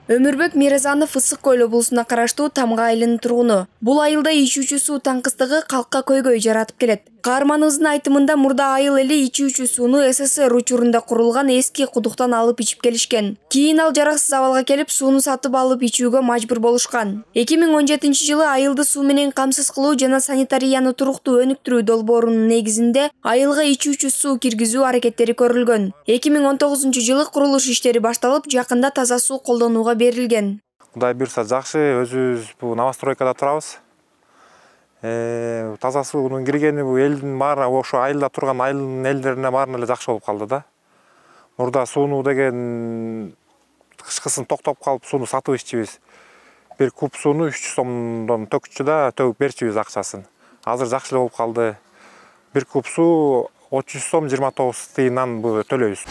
Өмүрбек Мирзанов Ысык Көл облусуна караштуу Тамга айылынын тургуну. Бул айылда ичүүчү суу таңкыстыгы калкка көйгөй жаратып келет. Каарманыбыздын айтымында мурда айыл эли ичүүчү сууну СССР учурунда курулган эски кудуктан алып ичип келишкен. Кийин ал жараксыз абалга келип, сууну сатып алып ичүүгө мажбур болушкан. 2017-жылы айылды суу менен камсыз кылуу жана санитарияны туруктуу өнүктүрүү долбоорунун негизинде айылга ичүүчү суу киргизүү аракеттери көрүлгөн. 2019-жылы курулуш иштери башталып, жакында таза суу колдонууга берилген. Кудай буйрса жакшы, өзүбүз бул новостройкада турабыз. Таза суунун киргени бул элдин баары, ошо айылда турган айылдын элдерине баарына эле жакшы болуп калды да. Мурда сууну деген кышкысын токтоп калып сууну сатып иччүбүз. Бир куб сууну 300 сомдон төкчү да, төгүп берчүбүз акчасын. Азыр жакшы эле болуп калды. Бир куб суу 30 сом 29 тыйындан төлөйбүз.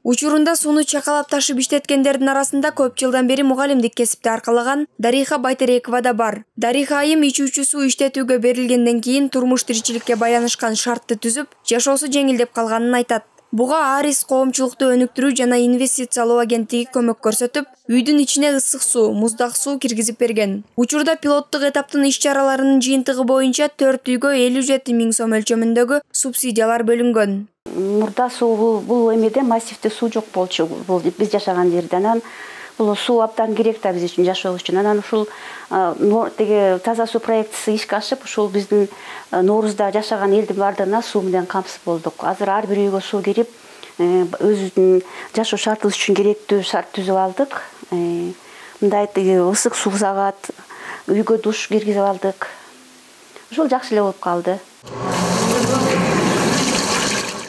Учурунда сууну чакалап ташып иштеткендердин арасында көп жылдан бери мугалимдик кесипти аркалаган Дариха Байтерекова да бар. Дариха айым ичүүчү суу иштетүүгө берилгенден кийин турмуш тиричиликке байланышкан шартты түзүп, жашоосу жеңилдеп калганын айтат. Буга Арис коомчулукту өнүктүрүү жана инвестициялоо агенттиги көмөк көрсөтүп, үйдүн ичине ысык суу, муздак суу киргизип берген. Учурда пилоттук этаптын иш-чараларынын жыйынтыгы боюнча 4 үйгө 57 000 сом өлчөмүндөгү субсидиялар бөлүнгөн. Мурда суу бул эмеде массивде суу жок болчу, бул биз жашаган жерде. Анан бул суу абдан керек да биз үчүн, жашоо үчүн. Анан ушул теге таза суу проектиси ишке ашып, ушул биздин Ноорузда жашаган элдин баардыгына суу менен камсыз болдук. Азыр ар бир үйгө суу кирип, өзүбүздүн жашоо шартыбыз үчүн керектүү шарт түзүп алдык. Мындай ысык суу саат, үйгө душ киргизип алдык. Ушул жакшы эле болуп калды.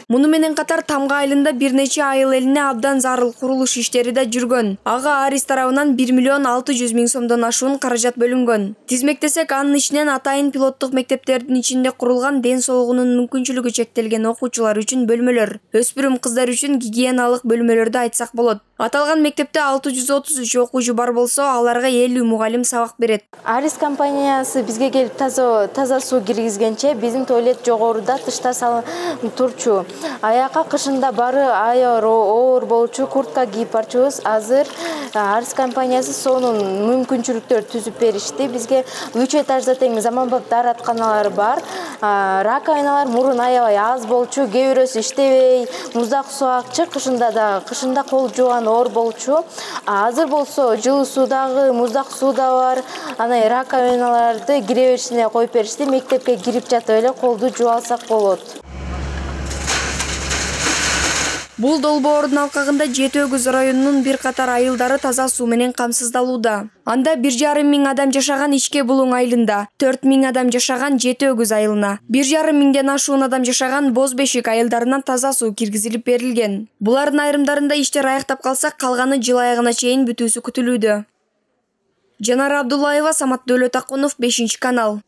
Муну менен катар Тамга айылында бир нече айыл элине абдан зарыл курулуш иштери да жүргөн. Ага Арис тарабынан 1 600 000 сомдон ашуун каражат бөлүнгөн. Тизмектесек, анын ичинен атайын пилоттук мектептердин ичинде курулган ден соолугунун мүмкүнчүлүгү чектелген окуучулар үчүн бөлмөлөр, өспүрүм кыздар үчүн гигиеналык бөлмөлөрдү айтсак болот. Аталган мектепте 633 окуучу бар болсо, аларга 50 мугалим сабак берет. Арис компаниясы бизге келип таза суу киргизгенче биздин туалет жогоруда тышта турчу. Аяка кышында бары аябай оор болчу, куртка кийип барчубуз. Азыр Арис компаниясы сонун мүмкүнчүлүктөр түзүп беришти. Бизге 3 этажда тең заманбап дааратканалар бар. Раковиналар мурун аябай аз болчу, кээ бирөөсү иштебей, муздак суу акчы, кышында кол жууган оор болчу. Азыр болсо жылуу суудагы, муздак суу да бар. Анан раковиналарды кире беришине коюп беришти. Мектепке кирип жатып эле колду жууп алсак болот. Бул долбоордун алкагында Жети Өгүз районунун бир катар айылдары таза суу менен камсыздалууда. Анда 1,5 000 адам жашаган Ичке Булуң айылында, 4 000 адам жашаган Жети Өгүз айылына, 1,5 миңден ашуун адам жашаган Боз Бешик айылдарынан таза суу киргизилип берилген. Булардын айрымдарында иштер аяктап калса, калганы жыл аягына чейин бүтүүсү күтүлүүдө. Жанара Абдуллаева, Самат Дөөлөтакунов, 5 канал.